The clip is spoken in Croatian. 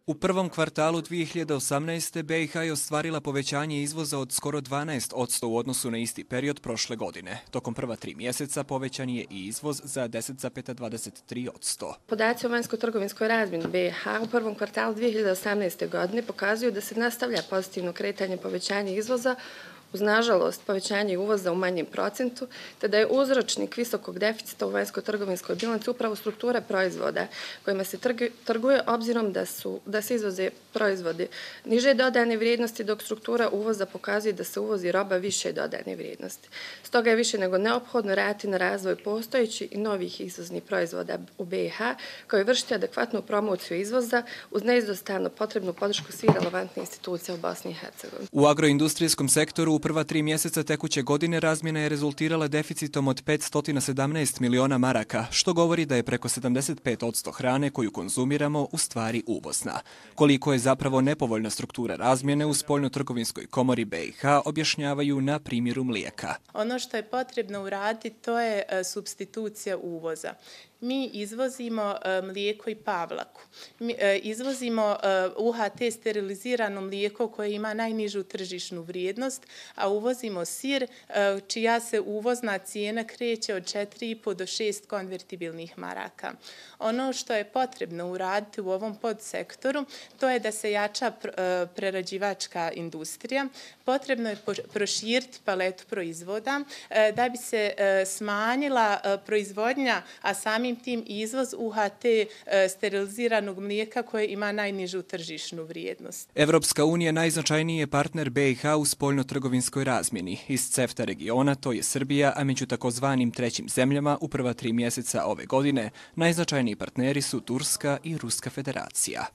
U prvom kvartalu 2018. BiH je ostvarila povećanje izvoza od skoro 12% u odnosu na isti period prošle godine. Tokom prva 3 mjeseca povećan je i izvoz za 10,23%. Podaci o vanjsko-trgovinskoj razmjeni BiH u prvom kvartalu 2018. godine pokazuju da se nastavlja pozitivno kretanje povećanja izvoza uz nažalost povećanje uvoza u manjem procentu, te da je uzročnik visokog deficita u vanjsko-trgovinskoj bilanci upravo struktura proizvoda kojima se trguje obzirom da se izvoze proizvodi niže dodane vrijednosti, dok struktura uvoza pokazuje da se uvozi roba više dodane vrijednosti. Stoga je više nego neophodno raditi na razvoj postojećih i novih izvoznih proizvoda u BiH, kao i vršiti adekvatnu promociju izvoza uz neizostavno potrebnu podršku svih relevantnih institucija u Bosni i Hercegovini. U agroindustrijskom sektoru u prva 3 mjeseca tekuće godine razmjena je rezultirala deficitom od 517 miliona maraka, što govori da je preko 75% hrane koju konzumiramo u stvari uvozna. Koliko je zapravo nepovoljna struktura razmjene u Spoljnotrgovinskoj komori BiH objašnjavaju na primjeru mlijeka. Ono što je potrebno uraditi to je supstitucija uvoza. Mi izvozimo mlijeko i pavlaku. Mi izvozimo UHT sterilizirano mlijeko koje ima najnižu tržišnu vrijednost, a uvozimo sir čija se uvozna cijena kreće od 4,5 do 6 konvertibilnih maraka. Ono što je potrebno uraditi u ovom podsektoru to je da se jača prerađivačka industrija. Potrebno je proširiti paletu proizvoda da bi se smanjila proizvodnja, a samim tim izvoz UHT steriliziranog mlijeka koje ima najnižu tržišnu vrijednost. Evropska unija najznačajniji je partner BiH u spoljnotrgovinskoj razmjeni. Iz CEFTA regiona to je Srbija, a među takozvanim trećim zemljama u prva 3 mjeseca ove godine najznačajniji partneri su Turska i Ruska federacija.